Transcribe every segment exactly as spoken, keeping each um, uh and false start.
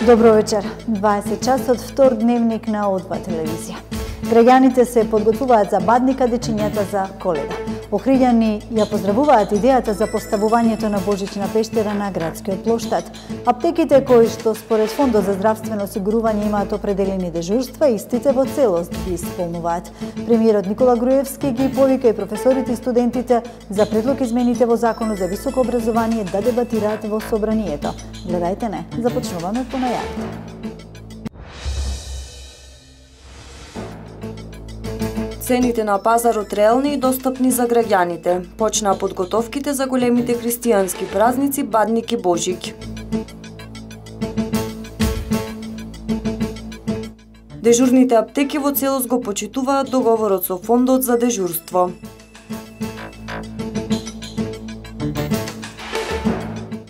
Добро вечер. дваесет часот, втор дневник на О два телевизија. Граѓаните се подготвуваат за бадника дечињата за Коледа. Охриѓани ја поздравуваат идејата за поставувањето на Божична пештера на градскиот плоштад. Аптеките кои што според Фондот за здравствено осигурување имаат определени дежурства, истите во целост ги исполнуваат. Премиерот Никола Груевски ги повика и професорите и студентите за предлог измените во Законот за високо образование да дебатираат во собранието. Гледајте не, започнуваме по најавите. Цените на пазарот реални и достапни за граѓаните. Почнаа подготовките за големите христијански празници Бадник и Божик. Дежурните аптеки во целост го почитуваат договорот со Фондот за дежурство.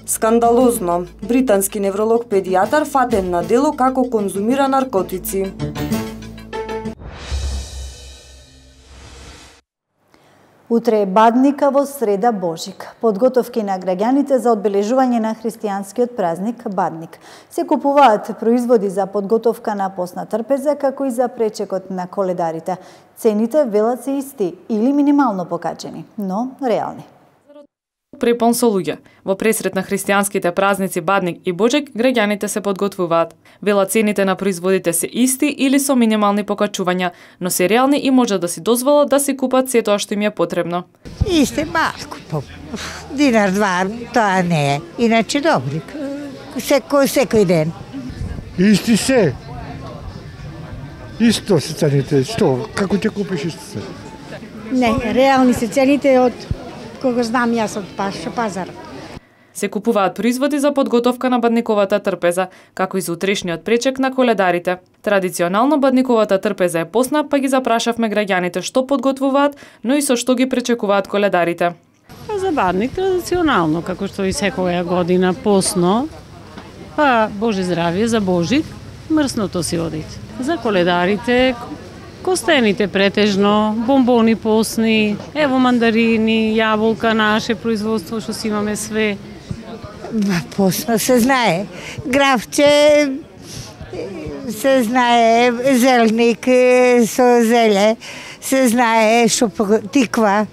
Скандалозно. Британски невролог-педијатар фатен на дело како конзумира наркотици. Утре е Бадника, во среда Божик. Подготовки на граѓаните за одбележување на христијанскиот празник Бадник. Се купуваат производи за подготовка на постна трпеза, како и за пречекот на коледарите. Цените велат се исти или минимално покачени, но реални. Препон со луѓе. Во пресрет на христијанските празници Бадник и Божик, граѓаните се подготвуваат. Вела цените на производите се исти или со минимални покачувања, но се реални и може да си дозволат да си купат се тоа што им е потребно. Исте малку, по динар два, тоа не е. Иначе добри, секој секој ден. Исти се. Исто се цените. Што? Како ќе купиш исто се? Не, реални се цените од кога знам јас од пазар. Се купуваат производи за подготовка на бадниковата трпеза, како и за утрешниот пречек на коледарите. Традиционално бадниковата трпеза е постна, па ги запрашавме граѓаните што подготвуваат, но и со што ги пречекуваат коледарите. За Бадник традиционално, како што и секоја година постно, па Боже здравје за Божик, мрсното си одите. За коледарите костените претежно, бомбони постни, ево мандарини, јаболка, наше производство што си имаме све. Постно се знае. Гравче се знае, зелник со зеле, се знае што тиква.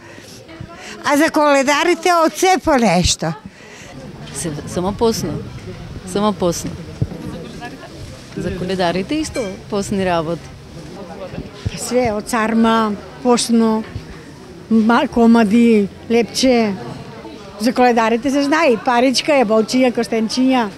А за коледарите од се по нешто. Само постно. Само постно. За коледарите исто постни работи. Све од царма, постно, комади, лепче. За коледарите се знае, паричка, јаболчиња, костенчиња.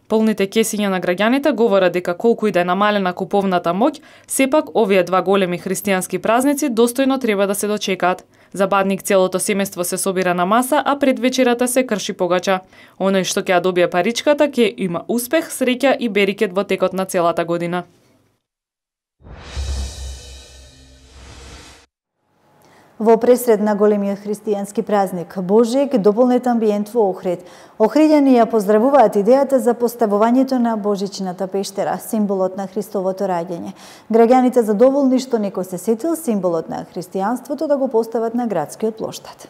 Полните кесиња на граѓаните говорат дека колку и да е намалена куповната моќ, сепак овие два големи христијански празници достојно треба да се дочекаат. За Бадник целото семејство се собира на маса, а пред вечерата се крши погача. Оној што ќе ја добие паричката ќе има успех, среќа и берикет во текот на целата година. Во пресред на големиот христијански празник Божик, дополнет амбиент во Охрид. Охриѓани ја поздравуваат идејата за поставувањето на Божичната пештера, символот на Христовото раѓање. Граѓаните задоволни што некој се сетил символот на христијанството да го постават на градскиот плоштад.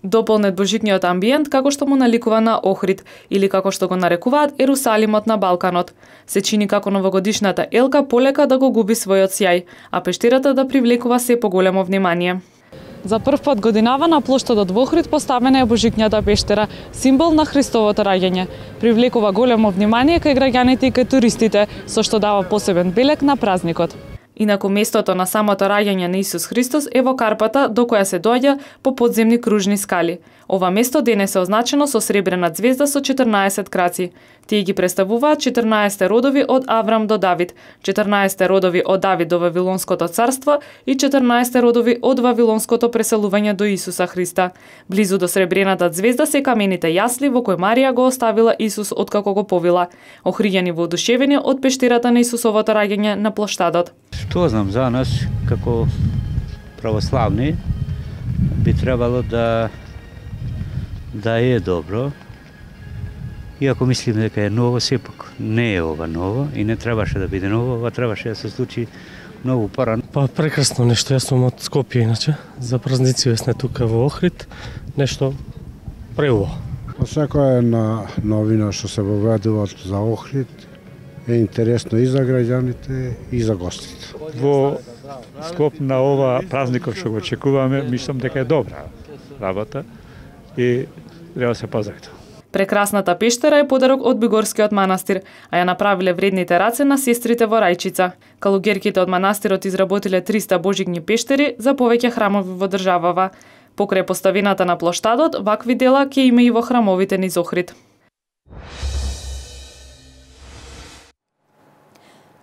Дополнет божикниот амбиент како што му наликува на Охрид, или како што го нарекуваат Ерусалимот на Балканот. Се чини како новогодишната елка полека да го губи својот сјај, а пештерата да привлекува се поголемо внимание. За прв пат годинава на плоштадот во Охрид поставена е божикњата пештера, символ на Христовото раѓање. Привлекува големо внимание кај граѓаните и кај туристите, со што дава посебен белег на празникот. Инаку местото на самото раѓање на Исус Христос е во Карпата, до која се доаѓа по подземни кружни скали. Ова место денес е означено со сребрена ѕвезда со четрнаесет краци. Тие ги представуваат четрнаесет родови од Аврам до Давид, четрнаесет родови од Давид до Вавилонското царство и четрнаесет родови од Вавилонското преселување до Исуса Христа. Близу до сребрената ѕвезда се камените јасли во кои Марија го оставила Исус откако го повила. Охриѓани воодушевени од пештерата на Исусовото раѓање на плоштадот. Што знам за нас како православни би требало да да е добро. Иако мислиме дека е ново, сепак не е ова ново и не требаше да биде ново, ова требаше да се случи многу порано. Па прекрасно нешто, јас сум од Скопје иначе, за празници сме тука во Охрид, нешто преубаво. Секоја една новина што се воведува за Охрид е интересно и за граѓаните и за гостите. Во склоп на ова празникот што го очекуваме, мислам дека е добра работа и треба да се пазите. Прекрасната пештера е подарок од Бигорскиот манастир, а ја направиле вредните раце на сестрите во Рајчица. Калугерките од манастирот изработиле триста божигни пештери за повеќе храмови во државава. Покрај поставината на плоштадот, вакви дела ќе има и во храмовите низ Охрид.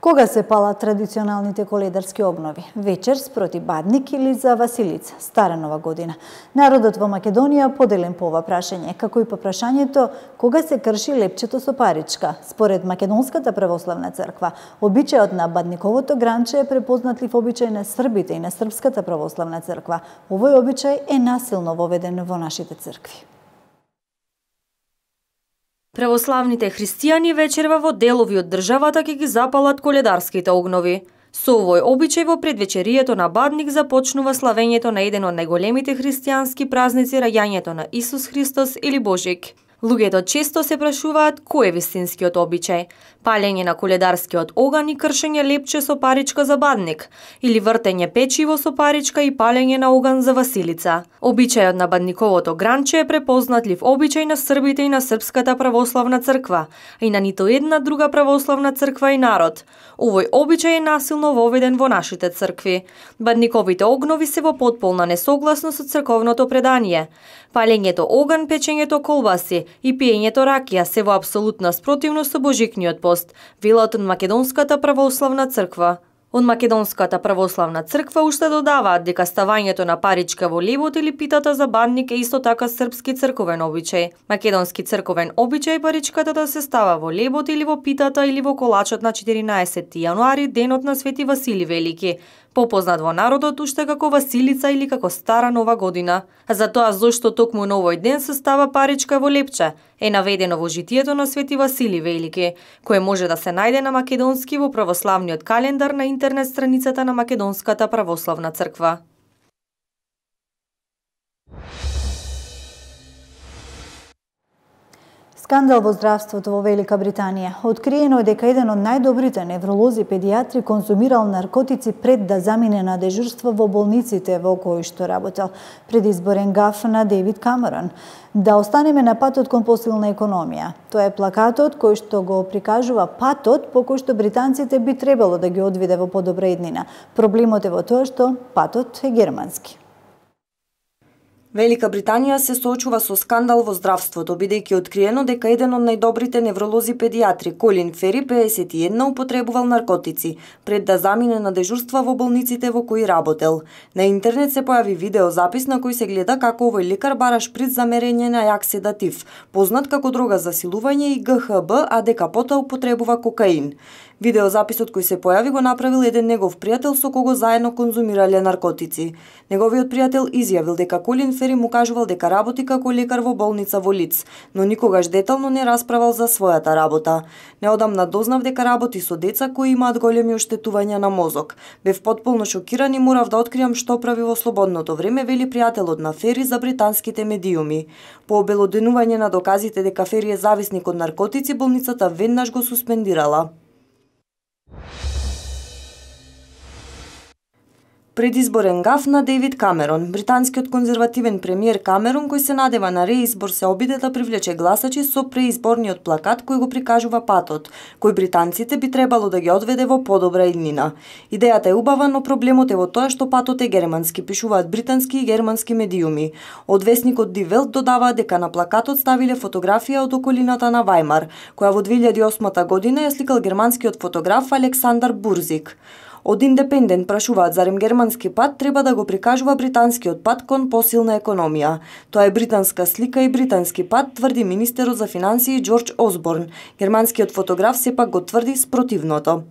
Кога се палат традиционалните коледарски обнови? Вечер спроти Бадник или за Василица, Стара нова година? Народот во Македонија поделен по ова прашање, како и по прашањето кога се крши лепчето со паричка. Според Македонската православна црква, обичајот на Бадниковото гранче е препознатлив обичај на србите и на Српската православна црква. Овој обичај е насилно воведен во нашите цркви. Православните христијани вечерва во делови од државата ќе ги запалат коледарските огнови. Со овој обичај во предвечерието на Бадник започнува славењето на еден од најголемите христијански празници, раѓањето на Исус Христос или Божик. Луѓето често се прашуваат кој е вистинскиот обичај: палење на коледарскиот оган и кршење лепче со паричка за Бадник, или вртење печиво со паричка и палење на оган за Василица. Обичајот на Бадниковото гранче е препознатлив обичај на србите и на Српската православна црква, а и на ниту една друга православна црква и народ. Овој обичај е насилно воведен во нашите цркви. Бадниковите огнови се во потполна несогласност со црковното предание. Палењето оган, печењето колбаси и пиењето ракија се во апсолутна спротивност со божикниот пост, велат од Македонската православна црква. Од Македонската православна црква уште додаваат дека ставањето на паричка во лебот или питата за Бадник е исто така српски црковен обичај. Македонски црковен обичај паричката да се става во лебот или во питата или во колачот на четиринаесетти јануари, денот на Свети Васили Велики, попознат во народот уште како Василица или како Стара нова година. А за тоа зошто токму на овој ден се става паричка во лепче е наведено во житието на Свети Васили Велики, кое може да се најде на македонски во православниот календар на интернет страницата на Македонската православна црква. Скандал во здравството во Велика Британија. Откриено е дека еден од најдобрите невролози педиатри конзумирал наркотици пред да замине на дежурство во болниците во кои што работел. Предизборен гаф на Дейвид Камерон. Да останеме на патот кон посилна економија. Тоа е плакатот кој што го прикажува патот по кој што британците би требало да ги одвиде во подобра иднина. Проблемот е во тоа што патот е германски. Велика Британија се соочува со скандал во здравството, бидејќи откриено дека еден од најдобрите невролози педиатри, Колин Фери, пеесет и една, употребувал наркотици пред да замине на дежурства во болниците во кои работел. На интернет се појави видеозапис на кој се гледа како овој лекар бара шприц за мерење на јак седатив, познат како дрога за силување, и Г Х Б, а дека потоа употребува кокаин. Видеозаписот кој се појави го направил еден негов пријател со кого заедно конзумирале наркотици. Неговиот пријател изјавил дека Колин Фери му кажувал дека работи како лекар во болница во Лиц, но никогаш детално не расправал за својата работа. Неодамна дознав дека работи со деца кои имаат големи оштетувања на мозок. Бев потполно шокиран и морав да откриам што прави во слободното време, вели пријателот на Фери за британските медиуми. По обелоденување на доказите дека Фери е зависник од наркотици, болницата веднаш го суспендирала. Предизборен гаф на Дейвид Камерон. Британскиот конзервативен премиер Камерон, кој се надева на реизбор, се обиде да привлече гласачи со преизборниот плакат кој го прикажува патот, кој британците би требало да ги одведе во подобра иднина. Идејата е убава, но проблемот е во тоа што патот е германски, пишуваат британски и германски медиуми. Од весникот Die Welt додаваат дека на плакатот ставиле фотографија од околината на Вајмар, која во две илјади и осма година ја сликал германскиот фотограф Александар Бурзик. Од Индепендент прашуваат зарем германски пат треба да го прикажува британскиот пат кон посилна економија. Тоа е британска слика и британски пат, тврди министерот за финансии Џорџ Осборн. Германскиот фотограф сепак го тврди спротивното.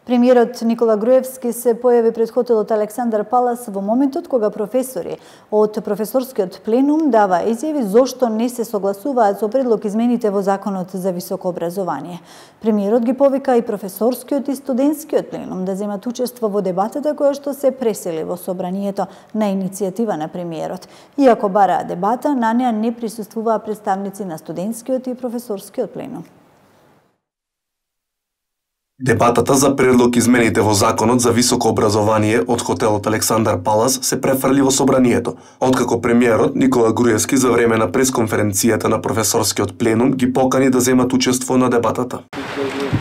Премиерот Никола Груевски се појави пред хотелот Александар Палас во моментот кога професори од професорскиот пленум дава изјави зошто не се согласуваат со предлог измените во Законот за високо образование. Премиерот ги повика и професорскиот и студентскиот пленум да земат учество во дебатата која што се пресели во собранието на иницијатива на премиерот. Иако бараа дебата, на неа не присуствуваа представници на студентскиот и професорскиот пленум. Дебатата за предлог измените во Законот за високо образование од хотелот Александар Палас се префрли во собранието, откако премиерот Никола Груевски за време на пресконференцијата на професорскиот пленум ги покани да земат учество на дебатата.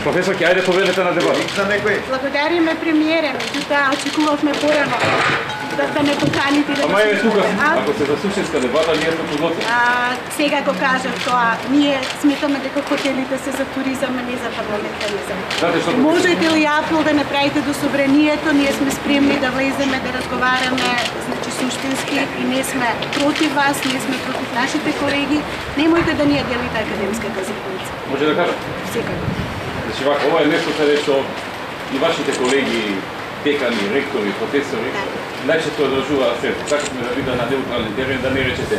Професор, ќе ајде поведете на дебата. Благодариме премиере, меѓутоа очекувавме порано да, да не поканите да. Ама е тука, ако се за суштинска дебата, ние сме подготвени. Сега го кажав тоа, ние сметаме дека хотелите се за туризам, а не за парламентаризам. Можете ли апел да направите до собранието, ние сме спремни да влеземе, да разговараме, значи суштински и не сме против вас, ние сме против нашите колеги. Немојте да ни ја делите академската заедница. Може да кажа? Секако. Значи, вака, ова е нешто каде што и вашите колеги, декани, ректори, професори, најчесто одржуваат се. Така сме да биде на неутрален терен, да не речете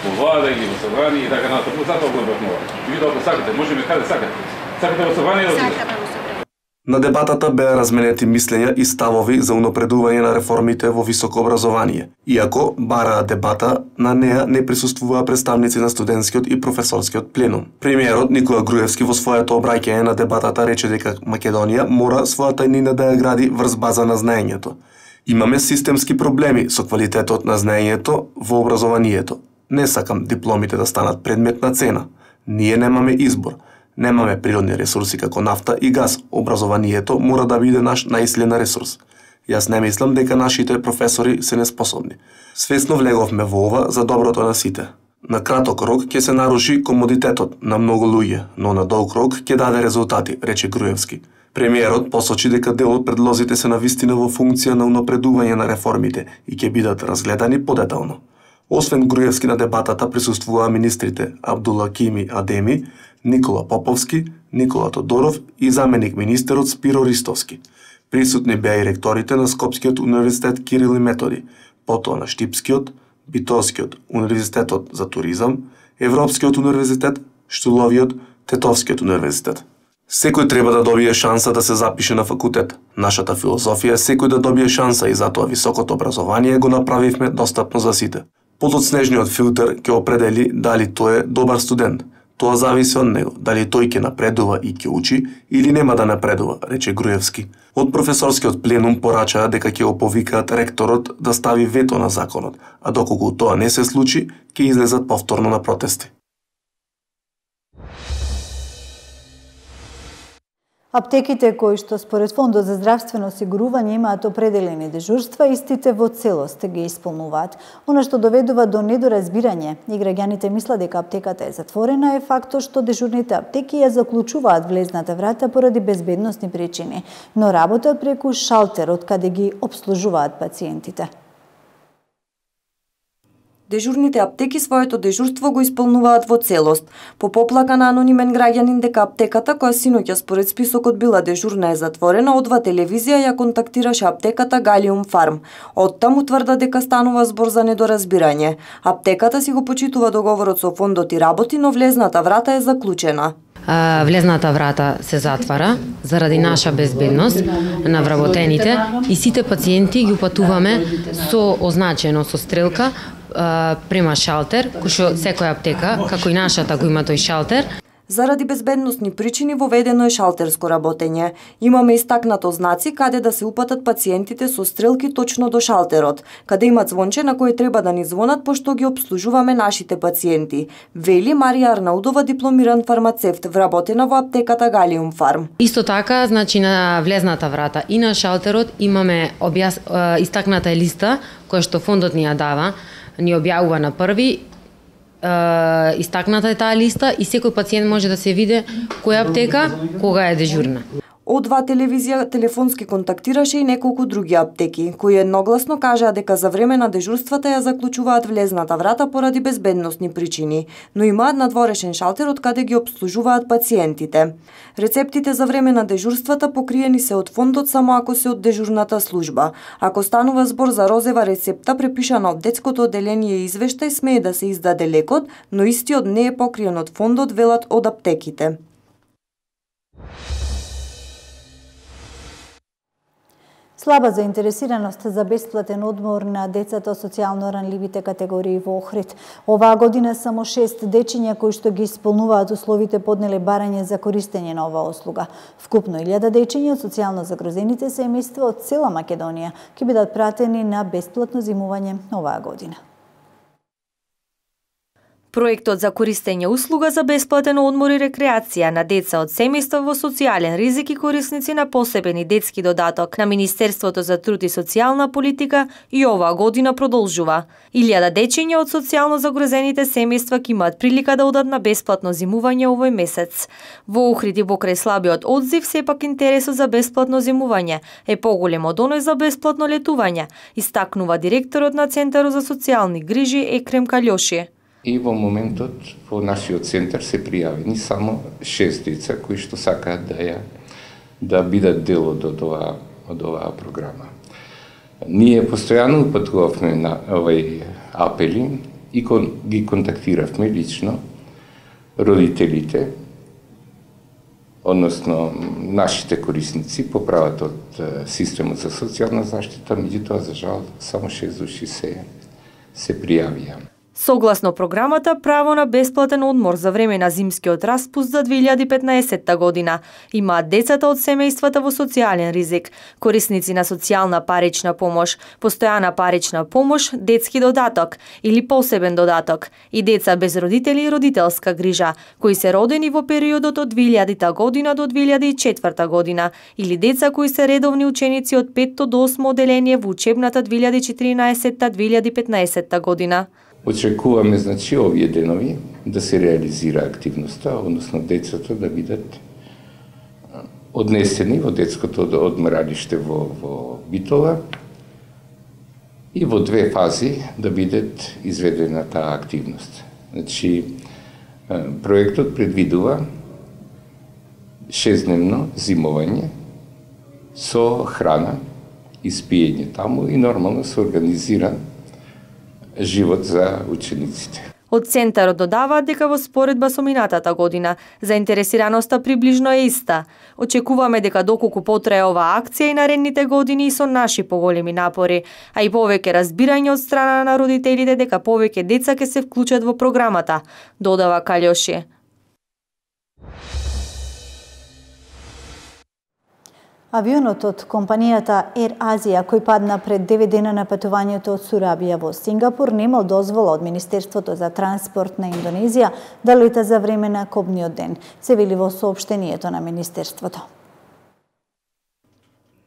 во влада или во собрание и така натаму. Затоа го обрнува. И ви ако сакате, можеме каде сакате. Сакате во собрание да одидете. На дебатата беа разменети мислења и ставови за унапредување на реформите во високо образование. Иако бараа дебата, на неа не присуствуваа представници на студентскиот и професорскиот пленум. Премиерот Никола Груевски во своето обраќање на дебатата рече дека Македонија мора својата иднина да ја гради врз база на знаењето. Имаме системски проблеми со квалитетот на знаењето во образованието. Не сакам дипломите да станат предмет на цена. Ние немаме избор. Немаме природни ресурси како нафта и газ. Образованието мора да биде наш најсилен ресурс. Јас не мислам дека нашите професори се неспособни. Свесно влеговме во ова за доброто на сите. На краток рок ќе се наруши комодитетот на многу луѓе, но на долг рок ќе даде резултати, рече Груевски. Премиерот посочи дека дел од предлозите се навистина во функција на унапредување на реформите и ќе бидат разгледани подетално. Освен Груевски на дебатата присуствуваа министрите Абдулакими Адеми, Никола Поповски, Никола Тодоров и заменик министерот Спиро Ристовски. Присутни беа и ректорите на Скопскиот универзитет Кирил и Методи, потоа на Штипскиот, Битолскиот универзитетот за туризам, Европскиот универзитет, Штуловиот, Тетовскиот универзитет. Секој треба да добие шанса да се запише на факултет. Нашата филозофија е секој да добие шанса и затоа високото образование го направивме достапно за сите. Подоцнежниот филтер ќе определи дали тој е добар студент. Тоа зависи од него, дали тој ќе напредува и ќе учи или нема да напредува, рече Груевски. Од професорскиот пленум порачаа дека ќе го повикаат ректорот да стави вето на законот, а доколку тоа не се случи, ќе излезат повторно на протести. Аптеките кои што според Фондот за здравствено осигурување имаат определени дежурства, истите во целост ги исполнуваат. Она што доведува до недоразбирање и граѓаните мислат дека аптеката е затворена е фактот што дежурните аптеки ја заклучуваат влезната врата поради безбедносни причини, но работат преку шалтер од каде ги обслужуваат пациентите. Дежурните аптеки своето дежурство го исполнуваат во целост. По поплака на анонимен граѓанин дека аптеката која синоќа според списокот била дежурна е затворена, одва телевизија ја контактираше аптеката Галиум Фарм. Оттаму тврда дека станува збор за недоразбирање. Аптеката си го почитува договорот со фондот и работи, но влезната врата е заклучена. Влезната врата се затвара заради наша безбедност на вработените и сите пациенти ги упатуваме со означено со стрелка према шалтер, кој што секоја аптека, како и нашата, го има тој шалтер. Заради безбедносни причини воведено е шалтерско работење. Имаме истакнато знаци каде да се упатат пациентите со стрелки точно до шалтерот, каде има звонче на кој треба да ни звонат пошто ги обслужуваме нашите пациенти, вели Марија Арнаудова, дипломиран фармацевт, вработена во аптеката Галиум Фарм. Исто така, значи на влезната врата и на шалтерот имаме објас... истакната листа која што фондот ни ја дава, ни објавува на први. Истакната е таа листа и секој пациент може да се види која аптека, кога е дежурна. О два телевизија телефонски контактираше и неколку други аптеки, кои едногласно кажаа дека за време на дежурствата ја заклучуваат влезната врата поради безбедносни причини, но имаат надворешен шалтер од каде ги обслужуваат пациентите. Рецептите за време на дежурствата покриени се од фондот само ако се од дежурната служба. Ако станува збор за розева рецепта препишана од детското одделение и извештај, смее да се издаде лекот, но истиот не е покриен од фондот, велат од аптеките. Слаба заинтересираност за бесплатен одмор на децата од социјално ранливите категории во Охрид. Оваа година само шест дечиња кои што ги исполнуваат условите поднеле барање за користење на оваа услуга. Вкупно илјада дечиња од социјално загрозените семејства од цела Македонија ќе бидат пратени на бесплатно зимување оваа година. Проектот за користење услуга за бесплатен одмор и рекреација на деца од семејства во социјален ризик и корисници на посебен и детски додаток на Министерството за труд и социјална политика и оваа година продолжува. Илјада дечиња од социјално загрозените семејства ќе имаат прилика да одат на бесплатно зимување овој месец. Во Охрид и покрај слабиот одзив, сепак интересот за бесплатно зимување е поголем од оној за бесплатно летување, истакнува директорот на Центарот за социјални грижи Екрем Калјоши. И во моментот во нашиот центар се пријавени само шест деца кои што сакаат да ја да бидат дел од оваа од оваа програма. Ние постојано упатувавме на овај апели и кон, ги контактиравме лично родителите, односно нашите корисници по правата од системот за социјална заштита, меѓутоа за жал само шест души се се пријавија. Согласно програмата, право на бесплатен одмор за време на зимскиот распуст за две илјади и петнаесетта година имаат децата од семејствата во социјален ризик, корисници на социјална парична помош, постојана парична помош, детски додаток или посебен додаток и деца без родители и родителска грижа, кои се родени во периодот од две илјадита година до две илјади и четврта година или деца кои се редовни ученици од петто до осмо одделение во учебната две илјади и четиринаесетта две илјади и петнаесетта година. Очекуваме, значи, овие денови да се реализира активноста, односно децата да бидат однесени во детското одморалиште во, во Битола и во две фази да бидат изведена таа активност. Значи, проектот предвидува шестдневно зимување со храна и спиење таму и нормално се организира живот за учениците. Од Центарот додаваат дека во споредба со минатата година заинтересираноста приближно е иста. Очекуваме дека доколку потрае оваа акција и наредните години и со наши поголеми напори, а и повеќе разбирање од страна на родителите дека повеќе деца ќе се вклучат во програмата, додава Калјоши. Авионот од компанијата Air Asia, кој падна пред девет дена на патувањето од Сурабија во Сингапур, немал дозвола од Министерството за транспорт на Индонезија да лета за време на кобниот ден, се вели во соопштението на Министерството.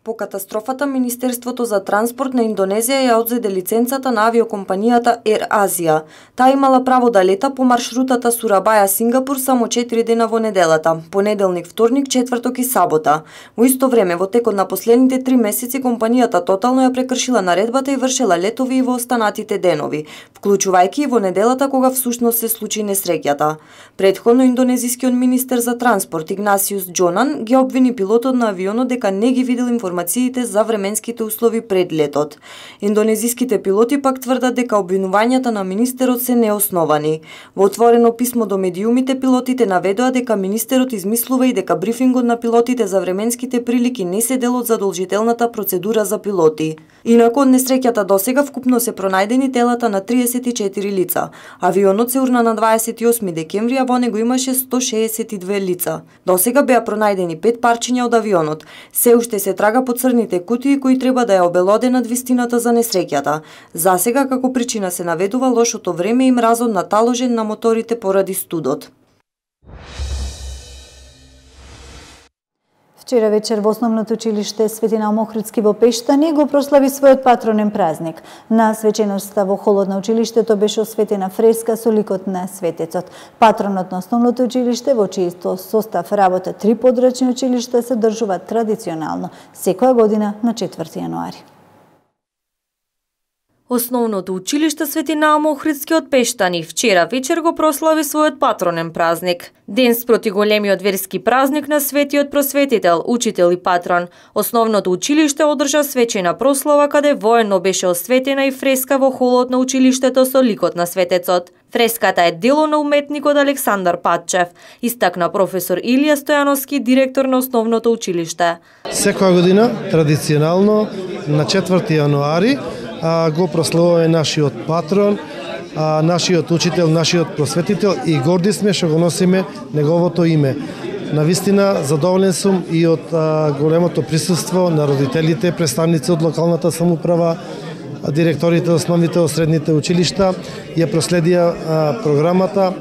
По катастрофата, Министерството за транспорт на Индонезија ја одзеде лиценцата на авиокомпанијата Air Asia. Таа имала право да лета по маршрутата Сурабаја-Сингапур само четири дена во неделата, понеделник, вторник, четврток и сабота. Во исто време, во текот на последните три месеци, компанијата тотално ја прекршила наредбата и вршела летови и во останатите денови, вклучувајќи и во неделата кога всушност се случи несреќата. Претходно, индонезискиот министер за транспорт Игнасиус Джонан ги обвини пилотот на авионот дека не ги видел информациите за временските услови пред летот. Индонезиските пилоти пак тврдат дека обвинувањата на министерот се неосновани. Во отворено писмо до медиумите, пилотите наведоа дека министерот измислува и дека брифингот на пилотите за временските прилики не се дел од задолжителната процедура за пилоти. Инаку од несреќата досега вкупно се пронајдени телата на триесет и четири лица. Авионот се урна на дваесет и осми декември, а во него имаше сто шеесет и две лица. Досега беа пронајдени пет парчиња од авионот. Се уште се трага по црните кутии кои треба да ја обелоденат вистината за несреќата. Засега како причина се наведува лошото време и мразот наталожен на моторите поради студот. Вчера вечер во основното училиште Свети Наум Охридски во Пештани го прослави својот патронен празник. На свеченоста во холот на училиштето беше осветена фреска со ликот на светецот. Патронот на основното училиште, во чијто состав работа три подрачни училишта, се одржува традиционално секоја година на четврти јануари. Основното училиште Свети Наум Охридски од Пештани вчера вечер го прослави својот патронен празник. Ден спроти големиот верски празник на светиот просветител, учител и патрон. Основното училиште одржа свечена прослава каде воено беше осветена и фреска во холот на училиштето со ликот на светецот. Фреската е дело на уметникот Александар Патчев, истакна професор Илија Стојановски, директор на основното училиште. Секоја година, традиционално, на четврти јануари, го прославуваме нашиот патрон, нашиот учител, нашиот просветител и горди сме што го носиме неговото име. Навистина задоволен сум и од големото присуство на родителите, представници од локалната самоуправа, директорите од основните од средните училишта, ја проследија програмата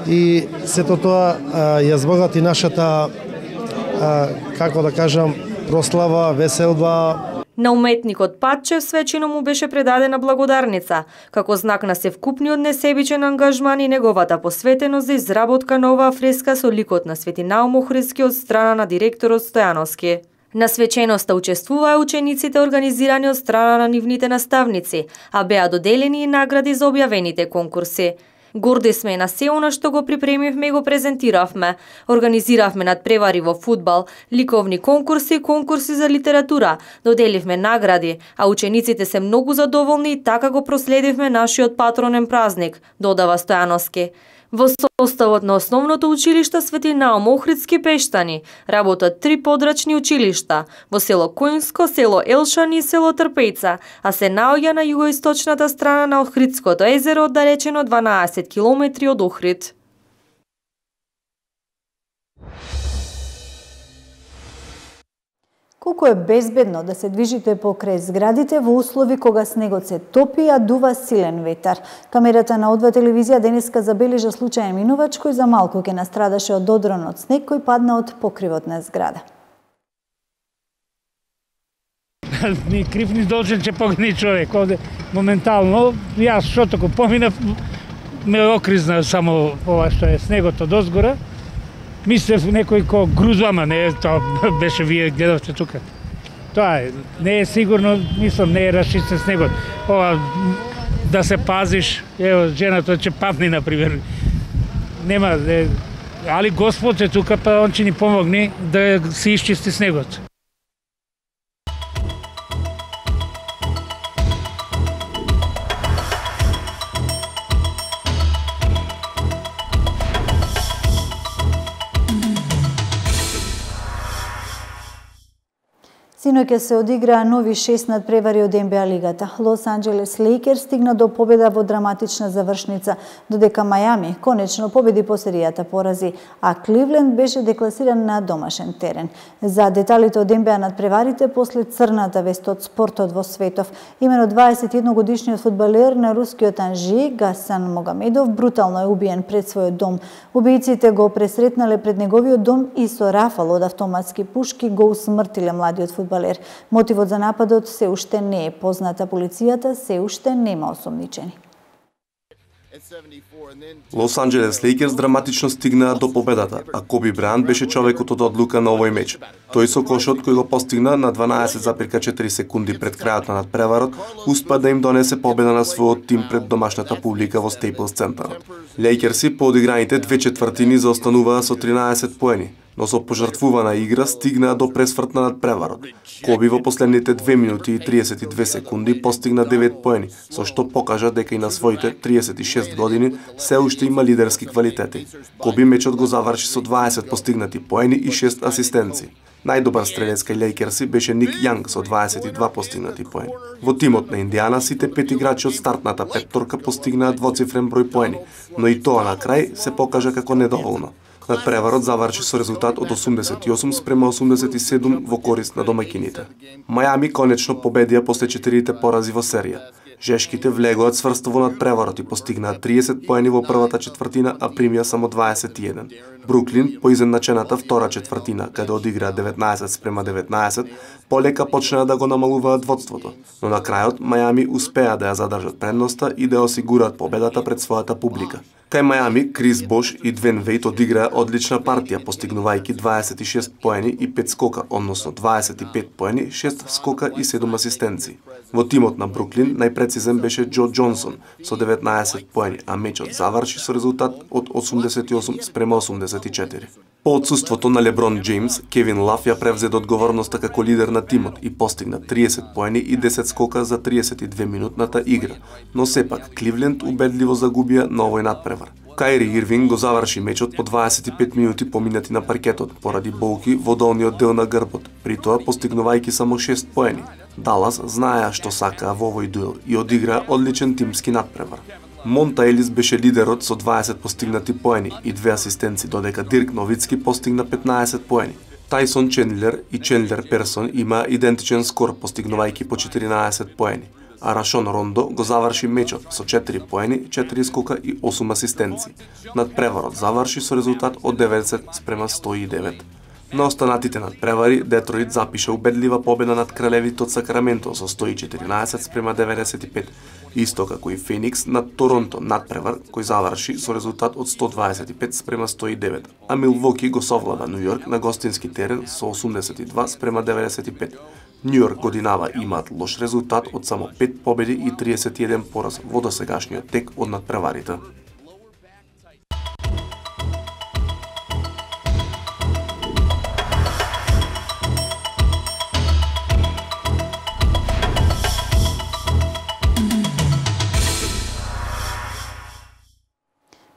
и сето тоа ја збогати нашата, како да кажам, прослава, веселба. На уметникот Патчев свечено му беше предадена благодарница, како знак на севкупниот несебичен ангажман и неговата посветеност за изработка на оваа фреска со ликот на Свети Наум Охридски од страна на директорот Стојановски. На свеченоста учествуваа учениците организирани од страна на нивните наставници, а беа доделени и награди за објавените конкурси. Горди сме на се она што го припремивме и го презентиравме. Организиравме надпревари во фудбал, ликовни конкурси и конкурси за литература, доделивме награди, а учениците се многу задоволни и така го проследивме нашиот патронен празник, додава Стојановски. Во составот на основното училиште Свети Наум Охридски Пештани работат три подрачни училишта во село Којнско, село Елшани и село Трпејца, а се наоѓа на југоисточната страна на Охридското езеро, оддалечено дванаесет километри од Охрид. Колку е безбедно да се движите покрај зградите во услови кога снегот се топи, а дува силен ветар. Камерата на О два телевизија денеска забележа случај минувач кој за малку ќе настрадаше од одрон од снег кој падна од покривот на зграда. Ни крив ни должен че погини човек. Овде моментално, јас што тако поминав, ме окризна само ова што е снегот од озгора. Мислев некој ко грузва, ама не, тоа беше вие гледавте тука. Тоа е, не е сигурно, мислам, не е расчистен снегот. Ова, да се пазиш, ево, жената че падни, например. Нема, е, али Господ е тука, па он ќе ни помогне да се исчисти снегот. Синоќа се одиграа нови шест надпревари од Н Б А лигата. Лос Анџелес Лейкерс стигна до победа во драматична завршница, додека Мајами конечно победи по серијата порази, а Кливленд беше декласиран на домашен терен. За деталите од Н Б А надпреварите после црната вест од спортот во светов, имено дваесет и едногодишниот фудбалер на рускиот Анжи Гасан Могамедов брутално е убиен пред својот дом. Убијците го пресретнале пред неговиот дом и со рафал од автоматски пушки го усмртиле младиот фудбалер. Мотивот за нападот се уште не е позната, полицијата се уште нема осомничени. Лос Анџелес Лейкерс драматично стигнаа до победата, а Коби Брајант беше човекот од одлука на овој меч. Тој со кошот кој го постигна на дванаесет запирка четири секунди пред крајот на надпреварот, успа да им донесе победа на својот тим пред домашната публика во Стейплс центарот. Лейкерси по одиграните две четвртини заостануваа со тринаесет поени, но со пожртвувана игра стигнаа до пресврт на надпреварот. Коби во последните две минути и триесет и две секунди постигна девет поени, со што покажа дека и на своите триесет и шест години се уште има лидерски квалитети. Коби мечот го заврши со дваесет постигнати поени и шест асистенци. Најдобар стрелец кај Лейкерси беше Ник Јанг со дваесет и два постигнати поени. Во тимот на Индијана сите пет играчи од стартната петторка постигнаа двоцифрен број поени, но и тоа на крај се покажа како недоволно. Надпреварот заврши со резултат од осумдесет и осум спрема осумдесет и седум во корист на домаќините. Мајами конечно победија после четирите порази во серија. Жешките влегоа цврсто во надпреварот и постигнаа триесет поени во првата четвртина, а примија само дваесет и еден. Бруклин по изедначената втора четвртина, каде одиграа деветнаесет спрема деветнаесет, полека почнаа да го намалуваат водството, но на крајот Мајами успеа да ја задржат предноста и да ја осигураат победата пред својата публика. Кај Мајами, Крис Бош и Двен Вејт одиграа одлична партија, постигнувајќи дваесет и шест поени и пет скока, односно дваесет и пет поени, шест скока и седум асистенци. Во тимот на Бруклин најпрецизен беше Џо Џонсон со деветнаесет поени, а мечот заврши со резултат од осумдесет и осум спрема осумдесет и четири. По отсуството на Леброн Џејмс, Кевин Лав ја превзе одговорноста како лидер на тимот и постигна триесет поени и десет скока за триесет и две минутната игра, но сепак Кливленд убедливо загубија на овој надпревар. Кајри Ирвинг го заврши мечот по дваесет и пет минути поминати на паркетот поради болки во долниот дел на грбот, при тоа постигнувајќи само шест поени. Далас знаеа што сакаа во овој дуел и одиграа одличен тимски надпревар. Монта Елис беше лидерот со дваесет постигнати поени и две асистенци, додека Дирк Новицки постигна петнаесет поени. Тајсон Чендлер и Чендлер Персон имаа идентичен скор, постигнувајќи по четиринаесет поени, а Рашон Рондо го заврши мечот со четири поени, четири скока и осум асистенци. Надпреварот заврши со резултат од деветдесет спрема сто и девет. На останатите надпревари, Детройт запиша убедлива победа над кралевите од Сакраменто со сто и четирнаесет спрема деветдесет и пет, исто како и Феникс над Торонто, надпревар кој заврши со резултат од сто дваесет и пет спрема сто и девет, а Милвоки го совлада Нью Йорк на гостински терен со осумдесет и два спрема деветдесет и пет. Нью Йорк годинава имаат лош резултат од само пет победи и триесет и еден пораз во досегашниот тек од надпреварите.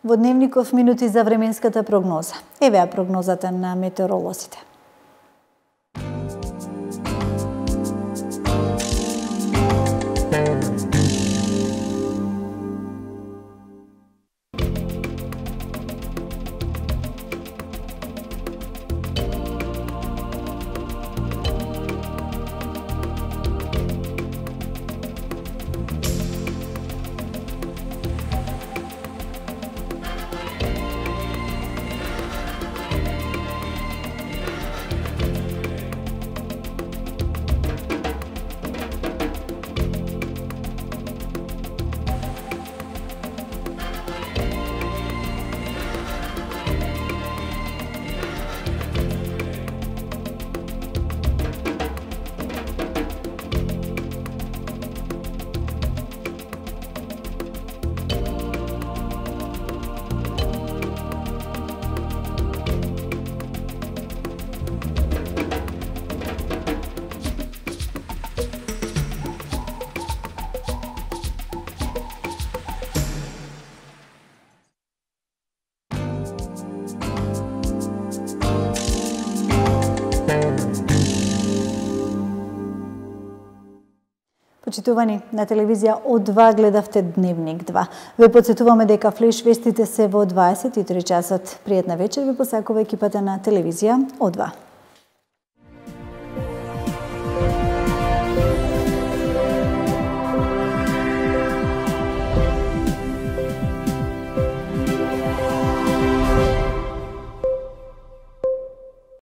Во Дневников минути за временската прогноза. Еве прогнозата на метеоролозите. Почитувани, на телевизија О два гледавте Дневник два. Ве подсетуваме дека флеш вестите се во дваесет и три часот. Пријатна вечер ви посакува екипата на телевизија О два.